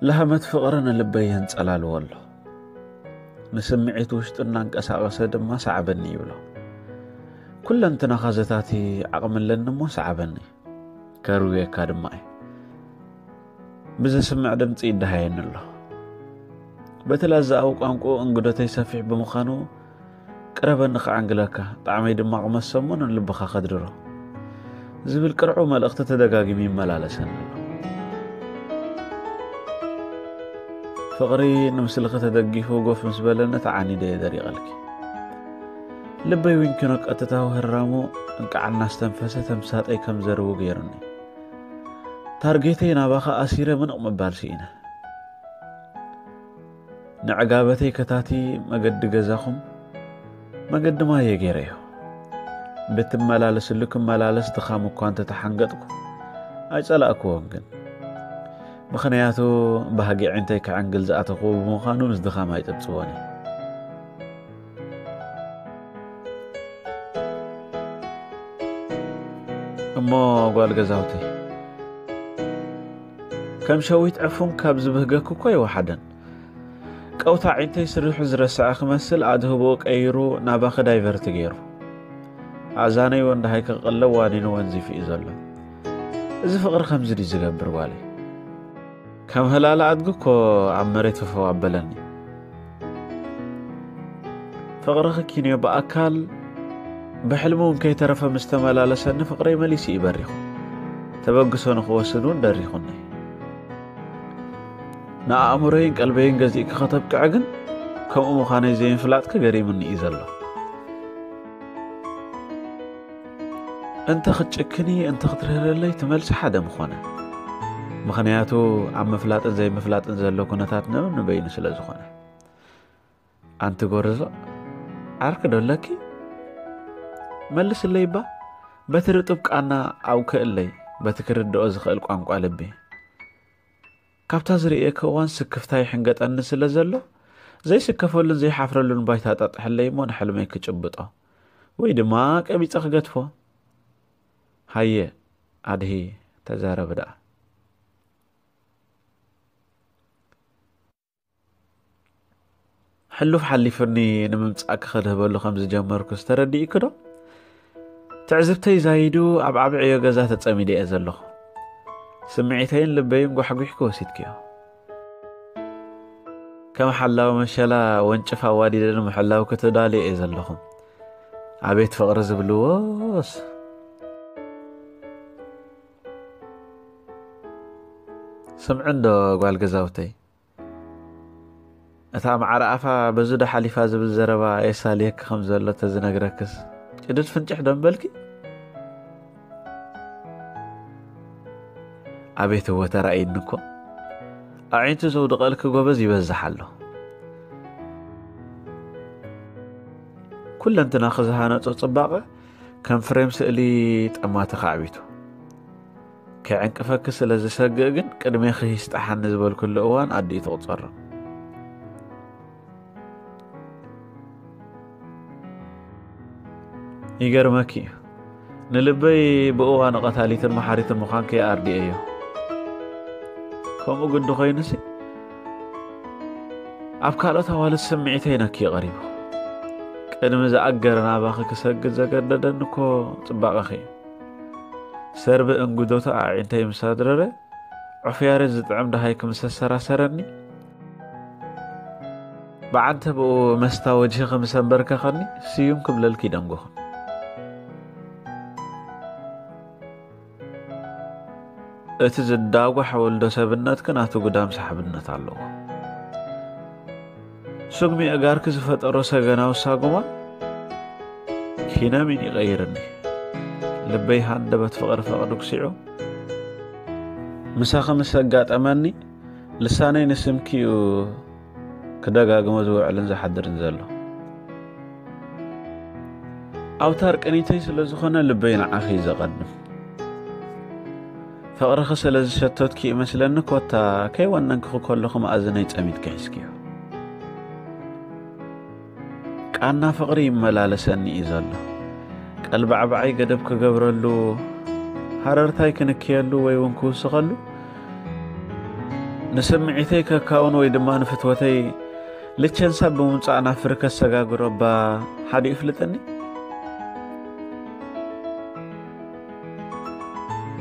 ለሃመት ፍቕሪ ንልበይ የንጸላልዎ ኣሎ። ንስምዒት ውሽጡ እናንቀሳቐሰ ድማ ሰዓበኒ ይብሎ። ኩለንትናኻ ዘታቲ ዓቕሚ ኣለኒ እሞ ሰዓበኒ። ከርውየካ ድማ እየ። ብዘስምዕ ድምፂ ይደሃየኒ ኣሎ። በቲ ላዛኣዊ ቋንቋ እንግዶተይ ሰፊሕ ብምዃኑ፣ "ቅረበኒ ክዓንግለካ፣ ጣዕመይ ድማ ክመሰሞ ንልብኻ ከድርሮ" ዝብል ቅርዑ መልእኽቲ ተደጋጊሙ ይመላለሰኒ ኣሎ። ፍቕሪ ንምስልኺ ተደጊፉ ጎፍ ምስ በለኒ ተዓኒደ እየ ደሪቐልኪ። ልበይ እውን ኪኖ ቀጥታዊ ህራሙ እንቃዕ እናስተንፈሰ ተምሳጠይ ከም ዘርዊ ገይሩኒ። ታርጌተይ ናባኻ ኣሲረ ምንቕ ምባል ስኢነ። ንዕጋበተይ ከታቲ መገዲ ገዛኹም መገዲ ማየ ገይረዮ። ብትመላለስሉ ክመላለስ ድኻም እኳ እንተተሓንገጥኩ ኣይጸላእክዎን ግን። ምኽንያቱ ባህጊ ዒንተይ ክዕንግል ዝኣተኽዎ ብምዃኑ ምስ ድኻም ኣይጽብጽቦን እየ። እሞ ጓል ገዛውተይ፣ ከም ሸዊት ዕፉን ካብ ዝብህገክ እኮ ይወሓደን። ቀውታ ዒንተይ ስሪሑ ዝረስዐ ክመስል ኣድህቦ ቀይሩ ናባኺ ዳይቨርቲ ገይሩ። ኣእዛነይ ወንድሃይ ክቕለብ ዋኒኑ ወንዚፉ እዩ ዘሎ። እዚ ፍቕሪ ከምዚ ድዩ ዝገብር ጓለይ? ከም ህላለ ኣድጊ እኮ ኣብ መሬት ፈፈው ኣበለኒ። ፍቕርኺ ኪንዮ ብኣካል ብሕልሚ እውን ከይተረፈ ምስ ተመላለሰኒ ፍቕረይ መሊሱ እዩ በሪኹ። ተበግሶ ንኽወስድ እውን ደሪኹኒ። ንኣእምሮይን ቀልበይን ገዚእኪ ከተብቅዐ ግን ከምኡ ምዃነይ ዘይምፍላጥኪ ገሪሙኒ እዩ ዘሎ። እንተ ክትጭክኒ እንተ ክትርህረለይ እቲ መልሲ ሓደ ምኾነ። ምኽንያቱ ኣብ ምፍላጥን ዘይምፍላጥን ዘሎ ኩነታት ነብን ንበይኑ ስለ ዝኾነ። ኣንቲ ጎርዞ፣ ዓርኪ ዶ ኣለኪ? መልስለይ እባ፣ በቲ ርጡብ ቃና ኣውክእለይ፣ በቲ ክርድኦ ዝኽእል ቋንቋ ልቢ። ካብታ ዝርእየኪ እዋን ስክፍታ ይሕንገጠኒ ስለ ዘሎ፣ ዘይስከፈሉን ዘይሓፍረሉን ባይታ ጣጥሕለይ እሞ ንሕልመይ ክጭብጦ ወይ ድማ ቀቢጸ ክገድፎ። ሃየ ኣድሂ፣ ተዛረቢ ደኣ። ሕሉፍ ሓሊፉኒ ንምምጻእኪ ከድህበሉ ከም ዝጀመርኩስ ተረዲእኪ ዶ? ትዕዝብተይ ዛይዱ ኣብ ዓቢ ዕዮ ገዛ ተጸሚደ እየ ዘለኹ። ስምዒተይን ልበይን ጓሕጒሕኪ ወሲድክዮ። ከም ሓላዊ መሸላ ወንጭፍ ኣዋዲደ ንምሕላው ክትዳልዮ እየ ዘለኹ። ኣቤት ፍቕሪ ዝብልዎስ! ስምዒ እንዶ ጓል ገዛውተይ፣ እታ ማዕረ ኣፋ በዚ ዶ ሓሊፋ ዝብል ዘረባ የሳልየኪ ከም ዘሎ ተዝነግረክስ ጭድድ ፍንጭሕ ዶ ምበልኪ? ኣቤት እወ ተራእይኒ እኮ። ኣዒንቲ ዘውድቐልኪ ጎበዝ ይበዝሕ ኣሎ። ኩለንትናኺ ዝሃነጾ ጽባቐ ከም ፍሬም ስእሊ ጠማቲ ካዕቢቱ። ከዕንቅፈኪ ስለ ዝሰግእ ግን ቅድሜኺ ይስጣሓኒ ዝበልኩሉ እዋን ኣዲኡ ትቑጸሮ። ይገርመኪ እዩ። ንልበይ ብእዋኑ ቀታሊትን መሓሪትን ምዃንኪ ኣርዲኤዮ። ከምኡ ግዲ ኮይኑሲ ኣብ ካልኦት ኣዋልድ ስምዒተይ ነኪ ቀሪቡ። ቅድሚ ዝኣገረ ናባኺ ክሰግድ ዘገደደኒ እኮ ጽባቐኺ እዩ። ሰርቢ እንጉዶታ ኣዒንተይ ምስ ኣድረረ፣ ዑፍ ያሬድ ዝጥዕም ደሃይኪ ምስ ኣሰራሰረኒ፣ ብዓንተብኡ መስታ ወጅህኺ ምስ ኣንበርከኸኒ፣ ስዩም ክብለልኪ ይደንጎኹ። እቲ ዝዳጓሕ ወልዶ ሰብነትኪ ናቱ ግዳም ሰሓብነት ኣለዎ። ስጉሚ ኣእጋርኪ ዝፈጠሮ ሰገናዊ ሳጉማ ኪነሚን ይቐይርኒ። ልበይ ሃንደበት ፍቕሪ ፈቕዱ ክሲዑ፣ ምሳኺ ምስ ኣጋጠመኒ፣ ልሳነይ ንስምኪ እዩ ክደጋግሞ ዝውዕልን ዝሓድርን ዘሎ። ኣውታር ቅኒተይ ስለ ዝኾነ ልበይ ንዓኺ እዩ ዘቐድም። ፍቕርኺ ስለ ዝሸተትኪ ይመስለኒ ኮታ ከይወነንክኺ ከለኹ መኣዝነይ ጸሚድኪ ሒዝክዮ። ቃና ፍቕሪ ይመላለሰኒ እዩ ዘሎ። ቀልባዕባዓይ ገደብ ክገብረሉ፣ ሃረርታይ ክንክየሉ ወይ እውን ክውስኸሉ፣ ንስምዒተይ ከካውን ወይ ድማ ንፍትወተይ ልቸንሳ ብምምጻእ ናብ ፍሪ ከሰጋግሮ እባ ሓዲኡ ይፍልጠኒ?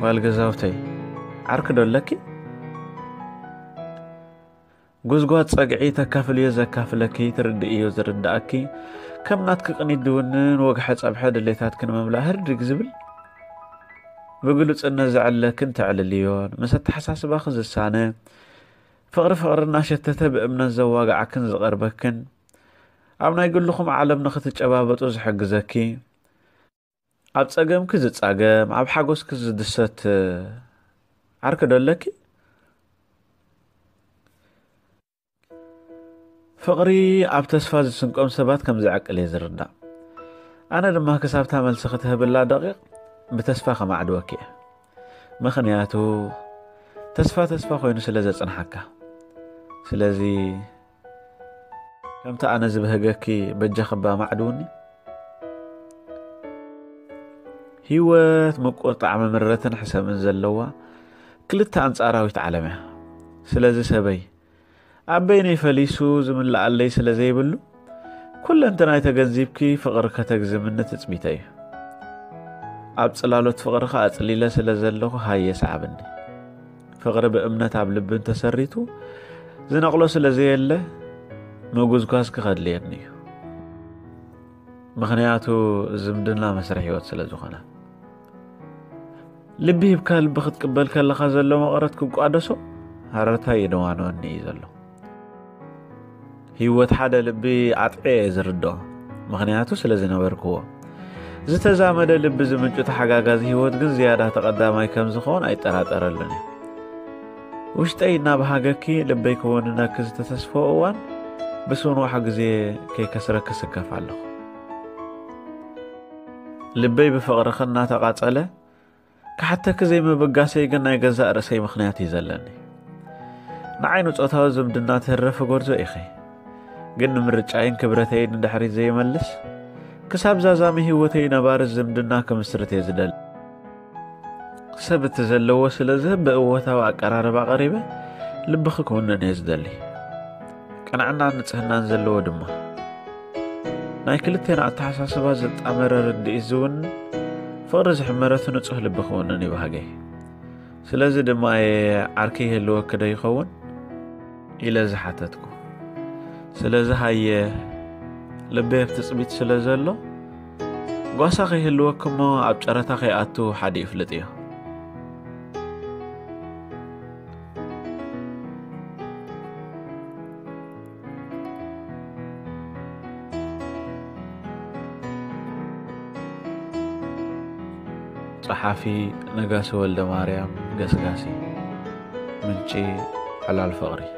ጓል ገዛውተይ፣ ዓርኪ ዶ ኣለኪ? ጉዝጓዝ ጸግዒ ተካፍልዮ ዘካፍለኪ፣ ትርድእዮ ዝርድኣኪ፣ ከም ናትኪ ቅኒት ድውንን ወግሐ ጸብሐ ድሌታትኪ ንምምላእ ህርድግ ዝብል፣ ብግሉጽነት ዘዕልለክን ተዕልልዮን፣ ምስ ኣተሓሳስባኺ ዝሳነ፣ ፍቕሪ ፍቕሪ እናሸተተ ብእምነት ዘዋግዓክን ዝቐርበክን፣ ኣብ ናይ ግልኹም ዓለም ንኽትጨባበጡ ዝሕግዘኪ፣ ኣብ ጸገምኪ ዝጻገም፣ ኣብ ሓጎስኪ ዝድሰት ዓርኪ ዶ ኣለኪ? ፍቕሪ ኣብ ተስፋ ዝስንቆም ሰባት ከም ዝዕቅል እየ ዝርዳእ። ኣነ ድማ ክሳብታ መልሲ ክትህብላ ደቂቕ ብተስፋ ከማዕድወኪ እየ። ምኽንያቱ ተስፋ ተስፋ ኮይኑ ስለ ዘጽንሓካ። ስለዚ ከምቲ ኣነ ዝብህገኪ በጃኺ እባ ማዕድውኒ። ህይወት ምቁር ጣዕሚ ምረትን ሕሰምን ዘለዋ ክልተ ኣንጻራዊት ዓለም እያ። ስለዚ ሰበይ ኣብ በይነይ ፈሊሱ ዝምልኣለይ ስለ ዘይብሉ፣ ኩለንተናይ ተገንዚብኪ ፍቕሪ ከተግዝምኒ ትጽቢተይ እዩ። ኣብ ጽላሎት ፍቕርኻ ኣጽሊለ ስለ ዘለኹ ሃየ ሰዓብኒ። ፍቕሪ ብእምነት ኣብ ልቢ እንተሰሪቱ ዝነቕሎ ስለ ዘየለ፣ ምጉዝጓዝኪ ከድልየኒ እዩ። ምኽንያቱ ዝምድና መስርሕ ህይወት ስለ ዝኾነ። ልቢ ሂብካ ልቢ ክትቅበል ከለኻ ዘሎ መቐረት ክቋደሶ ሃረርታ የደዋንወኒ እዩ ዘሎ። ህይወት ሓደ ልቢ ኣጥዕየ እየ ዝርድኦ፣ ምኽንያቱ ስለ ዝነበርክዎ። ዝተዛመደ ልቢ ዝምንጩ ተሓጋጋዚ ህይወት ግን ዝያዳ ተቐዳማይ ከም ዝኸውን ኣይጠራጠረሉን እየ። ውሽጠይ እናበሃገኪ፣ ልበይ ክወንነኪ ዝተተስፈዎ እዋን ብስንዋሕ ግዜ ከይከስረኪ ስከፍ ኣለኹ። ልበይ ብፍቕርኺ እናተቓጸለ፣ ክሓተኪ ዘይምብጋሰይ ግን ናይ ገዛእ ርእሰይ ምኽንያት እዩ ዘለኒ። ንዓይ ንጾታዊ ዝምድና ትህረፊ ጎርዞ ኢኺ፣ ግን ንምርጫይን ክብረተይን ንድሕሪት ዘይመልስ፣ ክሳብ ዛዛሚ ህይወተይ ነባሪ ዝምድና ክምስርት እየ ዝደሊ። ሰብ እቲ ዘለዎ ስለ ዝህብ ብእወታዊ ኣቀራርባ ቀሪበ ልብኺ ክውንን እየ ዝደሊ። ቅንዕናን ንጽህናን ዘለዎ ድማ። ናይ ክልቴና ኣተሓሳስባ ዘጣመረ ርድኢት ዝውንን ፍቕሪ ዝሕመረቱ ንጹህ ልቢ ክውንን እዩ ባህገይ። ስለዚ ድማ እየ ዓርኪ ይህልወኪ ዶ ይኸውን? ኢለ ዝሓተትኩ። ስለዚ ሃየ፣ ልበይ ኣብ ትጽቢት ስለ ዘሎ፣ ጓሳ ከይህልወኪ እሞ ኣብ ጨረታ ከይኣቱ ሓዲኡ ፍልጥዮ። ጸሓፊ ነጋሲ ወልደማርያም ገስጋሲ። ምንጪ ዕላል ፍቕሪ።